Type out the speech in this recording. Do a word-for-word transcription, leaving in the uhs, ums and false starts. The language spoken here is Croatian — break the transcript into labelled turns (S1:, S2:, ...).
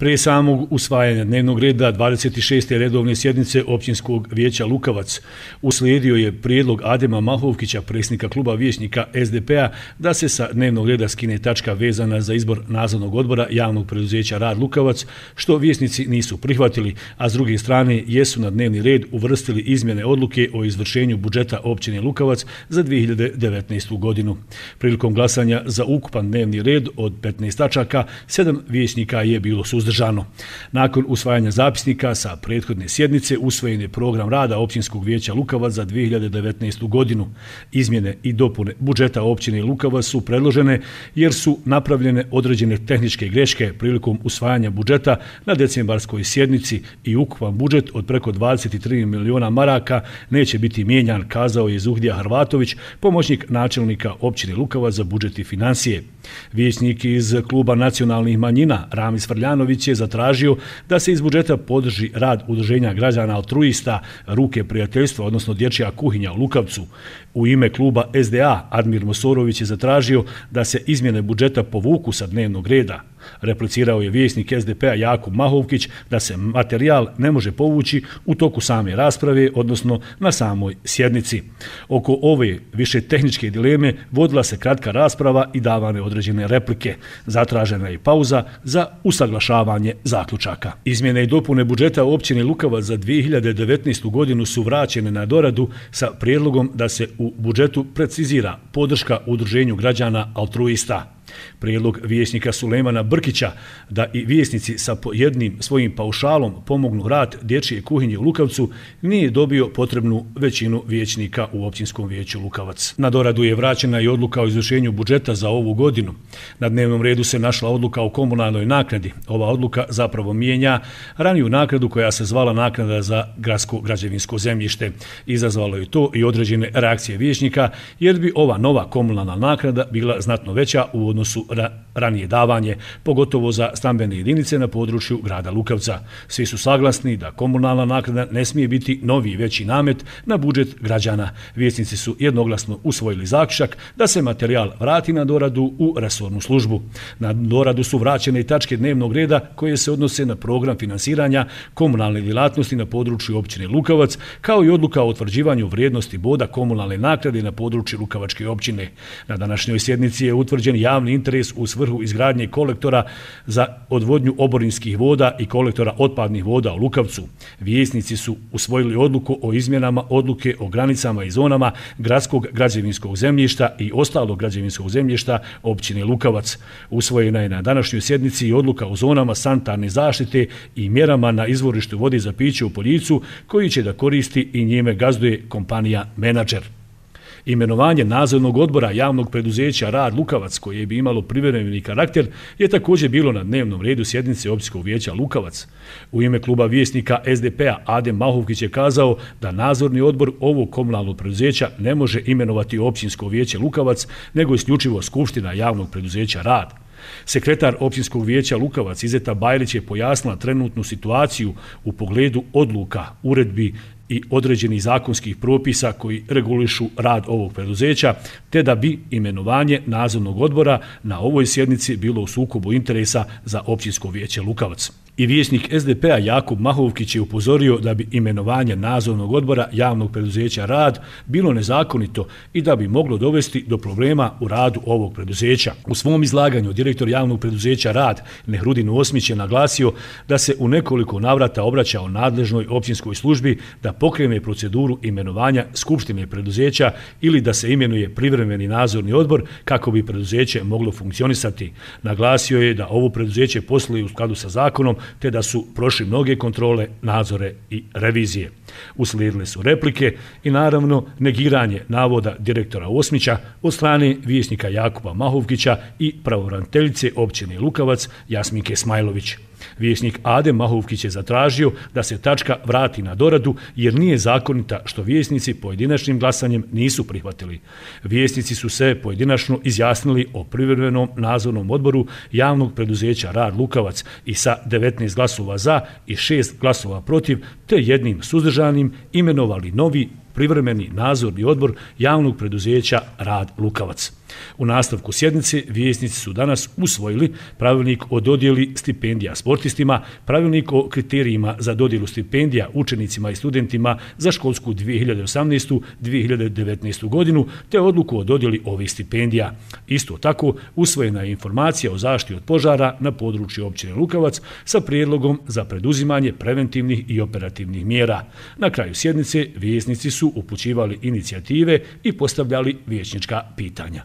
S1: Prije samog usvajanja dnevnog reda dvadeset šeste redovne sjednice Općinskog vijeća Lukavac uslijedio je prijedlog Adema Mahovkića, predsjednika kluba vijećnika S D P-a, da se sa dnevnog reda skine tačka vezana za izbor nadzornog odbora javnog preduzeća Rad Lukavac, što vijećnici nisu prihvatili, a s druge strane jesu na dnevni red uvrstili izmjene odluke o izvršenju budžeta općine Lukavac za dvije hiljade devetnaestu. godinu. Prilikom glasanja za ukupan dnevni red od petnaest tačaka, sedam vijećnika je bilo suzdržano. Nakon usvajanja zapisnika sa prethodne sjednice usvojen je program rada Općinskog vijeća Lukavac za dvije hiljade devetnaestu. godinu. Izmjene i dopune budžeta općine Lukavac su predložene jer su napravljene određene tehničke greške prilikom usvajanja budžeta na decembarskoj sjednici i ukupan budžet od preko dvadeset tri miliona maraka neće biti mijenjan, kazao je Zuhdija Hrvatović, pomoćnik načelnika općine Lukavac za budžet i financije. Vijećnik iz kluba nacionalnih manjina Ramis Frljanović je zatražio da se iz budžeta podrži rad udruženja građana altruista Ruke prijateljstva, odnosno dječja kuhinja u Lukavcu. U ime kluba S D A Admir Mosorović je zatražio da se izmjene budžeta povuku sa dnevnog reda. Replicirao je vijećnik S D P-a Jakub Mahovkić da se materijal ne može povući u toku same rasprave, odnosno na samoj sjednici. Oko ove više tehničke dileme vodila se kratka rasprava i davane određene replike. Zatražena je pauza za usaglašavanje zaključaka. Izmjene i dopune budžeta općine Lukavac za dvije hiljade devetnaestu. godinu su vraćene na doradu sa prijedlogom da se u budžetu precizira podrška udruženju građana altruista. Prijedlog vijećnika Sulejmana Brkića da i vijećnici sa jednim svojim paušalom pomognu rad dječje kuhinje u Lukavcu nije dobio potrebnu većinu vijećnika u Općinskom vijeću Lukavac. Na doradu je vraćena i odluka o izvršenju budžeta za ovu godinu. Na dnevnom redu se našla odluka o komunalnoj naknadi. Ova odluka zapravo mijenja raniju naknadu koja se zvala naknada za gradsko građevinsko zemljište. Izazvalo je to i određene reakcije vijećnika jer bi ova nova komunalna naknada bila znatno veća u odnosu su ranije davanje, pogotovo za stambene jedinice na području grada Lukavca. Svi su saglasni da komunalna naknada ne smije biti novi i veći namet na budžet građana. Vijećnici su jednoglasno usvojili zaključak da se materijal vrati na doradu u resornu službu. Na doradu su vraćene i tačke dnevnog reda koje se odnose na program finansiranja komunalne djelatnosti na području općine Lukavac, kao i odluka o utvrđivanju vrijednosti boda komunalne naknade na području Lukavačke općine. Na današnjoj sjednici je utvrđen javni interes u svrhu izgradnje kolektora za odvodnju oborinskih voda i kolektora otpadnih voda u Lukavcu. Vijećnici su usvojili odluku o izmjenama odluke o granicama i zonama gradskog građevinskog zemljišta i ostalog građevinskog zemljišta općine Lukavac. Usvojena je na današnjoj sjednici i odluka o zonama sanitarne zaštite i mjerama na izvorištu vode za piće u Poljicu, koji će da koristi i njime gazduje kompanija Menadžer. Imenovanje nadzornog odbora javnog preduzeća Rad Lukavac, koje bi imalo privremeni karakter, je također bilo na dnevnom redu sjednice Općinskog vijeća Lukavac. U ime kluba vijećnika S D P-a Adem Mahovkić je kazao da nadzorni odbor ovog komunalnog preduzeća ne može imenovati Općinsko vijeće Lukavac, nego isključivo Skupština javnog preduzeća Rad. Sekretar Općinskog vijeća Lukavac Izeta Bajlić je pojasnila trenutnu situaciju u pogledu odluka, uredbi i određenih zakonskih propisa koji regulišu rad ovog preduzeća, te da bi imenovanje nadzornog odbora na ovoj sjednici bilo u sukobu interesa za Općinsko vijeće Lukavac. I vijećnik S D P-a Jakub Mahovkić je upozorio da bi imenovanje nadzornog odbora javnog preduzeća Rad bilo nezakonito i da bi moglo dovesti do problema u radu ovog preduzeća. U svom izlaganju direktor javnog preduzeća Rad Nehrudin Osmić je naglasio da se u nekoliko navrata obraćao nadležnoj općinskoj službi da pokrene proceduru imenovanja skupštine preduzeća ili da se imenuje privremeni nadzorni odbor kako bi preduzeće moglo funkcionisati. Naglasio je da ovo preduzeće posluje u skladu sa zakonom, te da su prošli mnoge kontrole, nadzore i revizije. Uslijedile su replike i naravno negiranje navoda direktora Osmića od strane vijećnika Jakuba Mahovkića i pravobraniteljice općine Lukavac Jasminke Smajlović. Vijećnik Adem Mahovkić je zatražio da se tačka vrati na doradu jer nije zakonita, što vijećnici pojedinačnim glasanjem nisu prihvatili. Vijećnici su se pojedinačno izjasnili o privremenom nadzornom odboru javnog preduzeća Rad Lukavac i sa devetnaest glasova za i šest glasova protiv te jednim suzdržanim imenovali novi privremeni nadzorni odbor javnog preduzeća Rad Lukavac. U nastavku sjednice vijećnici su danas usvojili pravilnik o dodjeli stipendija sportistima, pravilnik o kriterijima za dodjelu stipendija učenicima i studentima za školsku dvije hiljade osamnaestu dvije hiljade devetnaestu godinu, te odluku o dodjeli ovih stipendija. Isto tako, usvojena je informacija o zaštiti od požara na području općine Lukavac sa prijedlogom za preduzimanje preventivnih i operativnih mjera. Na kraju sjednice vijećnici su upućivali inicijative i postavljali vijećnička pitanja.